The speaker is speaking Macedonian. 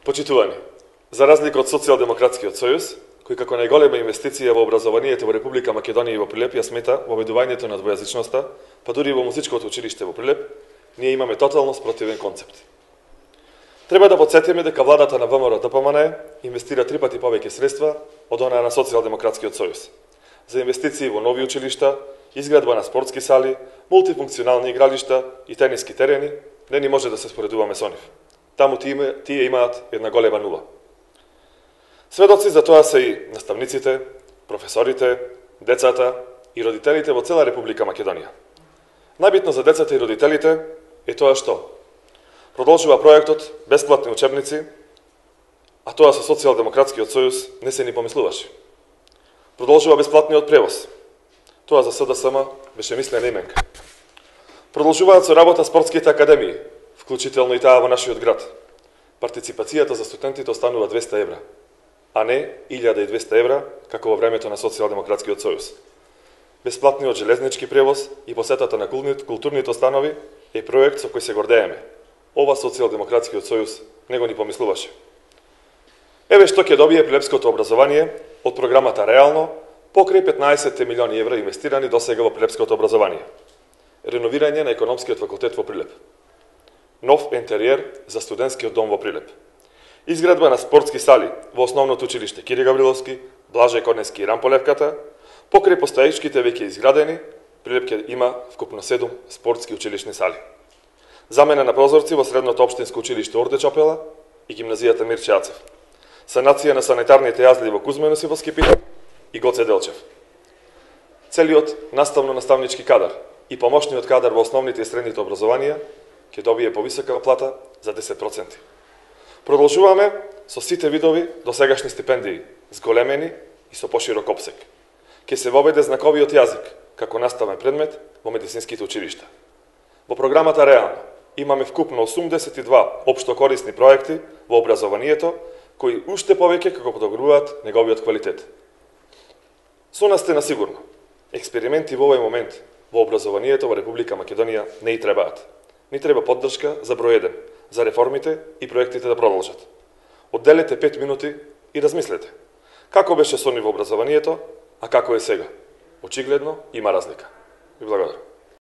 Почитувани, за разлика од Социјалдемократскиот сојуз, кој како најголема инвестиција во образованието во Република Македонија и во Прилеп ја смета воведувањето на двојазичноста, па дури и во музичкото училиште во Прилеп, ние имаме тотално спротивен концепт. Треба да потсетиме дека владата на ВМРО-ДПМН инвестира 3 пати повеќе средства од онаа на Социјалдемократскиот сојуз за инвестиции во нови училишта, изградба на спортски сали, мултифункционални игралишта и тениски терени. Не ни може да се споредуваме со нив. Таму тие имаат една голема нула. Сведоци за тоа се и наставниците, професорите, децата и родителите во цела Република Македонија. Најбитно за децата и родителите е тоа што продолжува проектот бесплатни учебници, а тоа со Социјалдемократскиот сојуз не се ни помислуваше. Продолжува бесплатниот превоз. Тоа за СДСМ беше мислена именка. Продолжуваат со работа спортските академии, вклучително и таа во нашиот град. Партиципацијата за студентите останува 200 евра, а не 1200 евра, како во времето на Социјалдемократскиот сојуз. Бесплатниот железнички превоз и посетата на културните установи е проект со кој се гордееме. Ова Социјалдемократскиот сојуз него ни помислуваше. Еве што ќе добие прилепското образование од програмата Реално покрај 15 милиони евра инвестирани досега во прилепското образование. Реновирање на економскиот факултет во Прилеп. Нов интериер за студентскиот дом во Прилеп. Изградба на спортски сали во основното училиште Кири Гавриловски, Блажај Корнески и Рамполевката, покрај постоечките веќе изградени, Прилеп ќе има вкупно 7 спортски училишни сали. Замена на прозорци во средното општинско училиште Орде Чопела и гимназијата Мирче Ацев. Санација на санитарните јазли во Кузманос и во Скипино и Гоце Делчев. Целиот наставно-наставнички кадар и помошниот кадар во основните и средните образованија ќе добие повисока плата за 10%. Продолжуваме со сите видови досегашни стипендии, зголемени и со поширок опсег. Ќе се воведе знаковиот јазик како наставен предмет во медицинските училишта. Во програмата Реално имаме вкупно 82 општокорисни проекти во образованието, кои уште повеќе како подобруваат неговиот квалитет. Со нас сте на сигурно. Експерименти во овој момент во образованието во Република Македонија не и требаат. Ни треба поддршка за број 1, за реформите и проектите да продолжат. Одделете 5 минути и размислете. Како беше со ниво образованието, а како е сега? Очигледно има разлика. Ви благодарам.